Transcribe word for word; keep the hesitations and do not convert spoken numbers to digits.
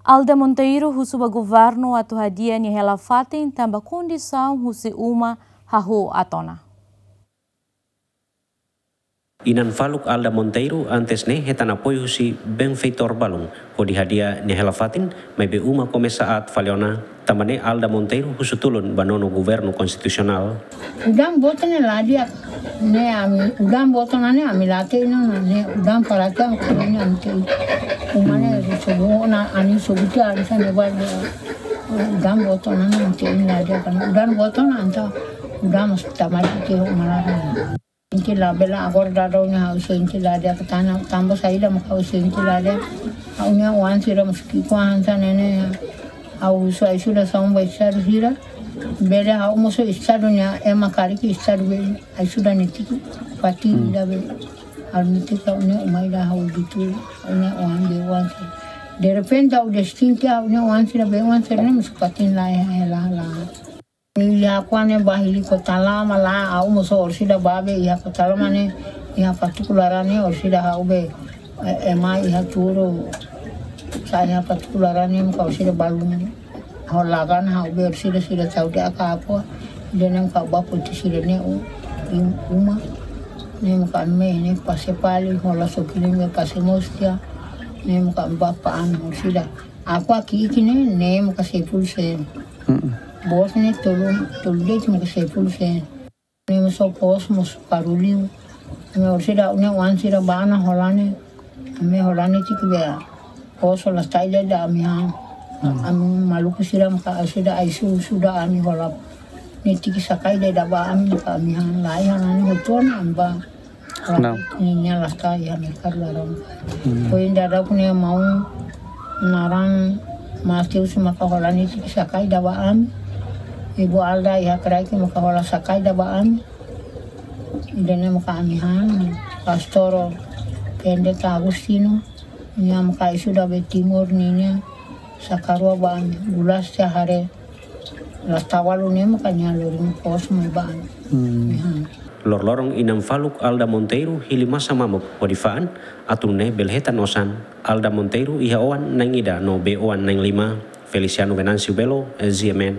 Alda Monteiro husu ba governu atu hadi'a nia hela-fatin tanba kondisaun husi uma hahú aat ona. Inan faluk Alda Monteiro antes ne'e hetan apoiu husi benfeitór balun hodi hadi'a nia hela-fatin, maibé uma komesa aat fali ona. Tanba ne'e Alda Monteiro husu tulun ba nonu governu konstitusionál. Udan boot ne'e la di'ak, ne'e ami, udan boot ona ne'e ami la hatene ona, ne'e udan para tiang kami ne'e ami hatene. Uma ne'e sobu ona, anin sobu tiha, anin sa ne'e ba de. Udan boot ona ne'e ami hatene la di'ak, udan boot ona entaun udan mós tama tiha ho uma laran. Sente labele, agora daudaun ne'e ha'u sente la di'ak, tanba, tanba saida mak ha'u sente la di'ak. Ha'u-nia oan sira mós ki'ik-oan hanesan ne'e ne'e. Ha'u husu ajuda saun ba estadu sira. Bele ha'u mós estadu nia ema karik, estadu be ajuda netik, fatin ida be. Ha'u netik ha'u-nia uma ida, ha'u ditu ha'u-nia oan be oan sira. Derrepente ha'u destin tiha ha'u-nia oan sira be oan sira ne'e mós fatin la iha, la, la. Iha Akua ne'e ba hili Kota Lama la, ha'u mós orsida ba be iha Kota Lama ne'e, iha fatuk laran ne'e orsida ha'u be, eh, ema iha tuur, sa'e iha fatuk laran ne'e maka orsida balun. Ha'u laran ha'u be orsida sira tau de aka Akua, ida ne'e maka ba poti sira ne'e u-, im-, uma. Ne'e maka ami ne'e pase fali, hola sokilin be pase mós tiha, ne'e maka ba fa'an orsida. Akua ki'ik ne'e, ne'e maka sepuluh sen. Mm-mm. Boot ne'e tolu, tolu de'it maka sepuluh sen. Ne'e mós posu mós karau liu. Ne'e orsida ha'u-nia oan sira ba ona hola ne'e. Ami hola ne'e tik be posu la sai ida ami han. Mm. Ami maluku sira maka orsida ai su-, sudah ami hola. Ne'e tik saka ida ba ami maka ami han lai han ne'e hotu ona ami ba. Nah. Ninia la sai iha merkadu laran. Hmm. Foin daudauk ne'e maun naran Mateus maka hola ne'e tik saka ida ba ami. Ibu Alda iha kraik maka hola saka ida ba ami. Ida ne'e maka ami han. Pastór Pendeta Agustino. Nia maka ai sudah be Timor ninia saka rua ba ami. Gulas tiha hare. La tau balu ne'e maka nia lori posu mai ba ami. Hmm. Nia han. Loroloron inan faluk Alda Monteiro hili masa mamuk hodi fa'an, atu nune'e bele hetan osan. Alda Monteiro iha oan na'in ida no bei-oan na'in lima. Feliciano Venâncio Belo, G M N.